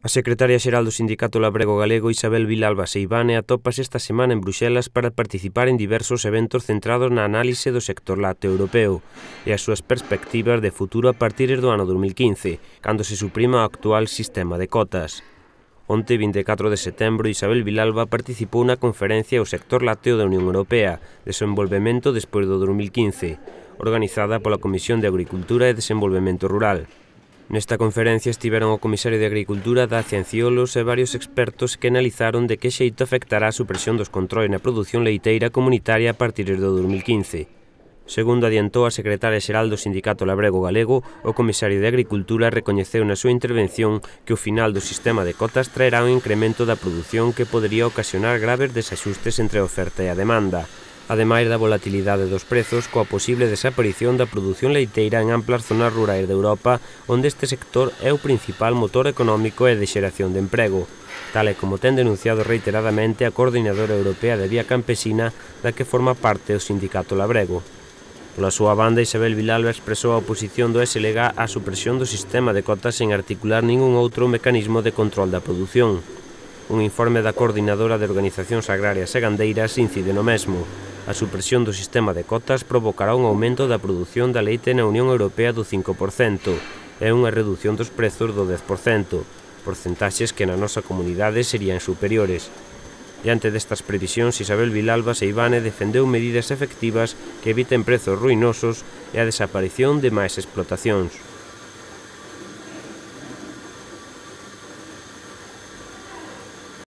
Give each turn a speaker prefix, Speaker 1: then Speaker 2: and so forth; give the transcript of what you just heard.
Speaker 1: A secretaria xeral do Sindicato Labrego Galego, Isabel Vilalba Seivane, atópase esta semana en Bruxelas para participar en diversos eventos centrados na análise do sector lácteo europeo e as súas perspectivas de futuro a partir do ano 2015, cando se suprima o actual sistema de cotas. Onte, 24 de setembro, Isabel Vilalba participou na conferencia O sector lácteo da Unión Europea, Desenvolvemento despois do 2015, organizada pola Comisión de Agricultura e Desenvolvemento Rural. Nesta conferencia estiveron o comisario de Agricultura, Dacia Enciolos e varios expertos que analizaron de que xeito afectará a supresión dos controis na produción leiteira comunitaria a partir do 2015. Segundo adiantou a secretaria xeral do Sindicato Labrego Galego, o comisario de Agricultura recoñeceu na súa intervención que o final do sistema de cotas traerá un incremento da produción que podería ocasionar graves desaxustes entre a oferta e a demanda, ademais da volatilidade dos prezos coa posible desaparición da produción leiteira en amplas zonas rurais de Europa, onde este sector é o principal motor económico e de xeración de emprego, tal e como ten denunciado reiteradamente a Coordinadora Europea de Vía Campesina, da que forma parte o Sindicato Labrego. Pola súa banda, Isabel Vilalba expresou a oposición do SLG á supresión do sistema de cotas sen articular ningún outro mecanismo de control da produción. Un informe da Coordinadora de Organizacións Agrarias e Gandeiras incide no mesmo. A supresión do sistema de cotas provocará un aumento da produción da leite na Unión Europea do 5% e unha redución dos prezos do 10%, porcentaxes que na nosa comunidade serían superiores. Diante destas previsións, Isabel Vilalba Seivane defendeu medidas efectivas que eviten prezos ruinosos e a desaparición de máis explotacións.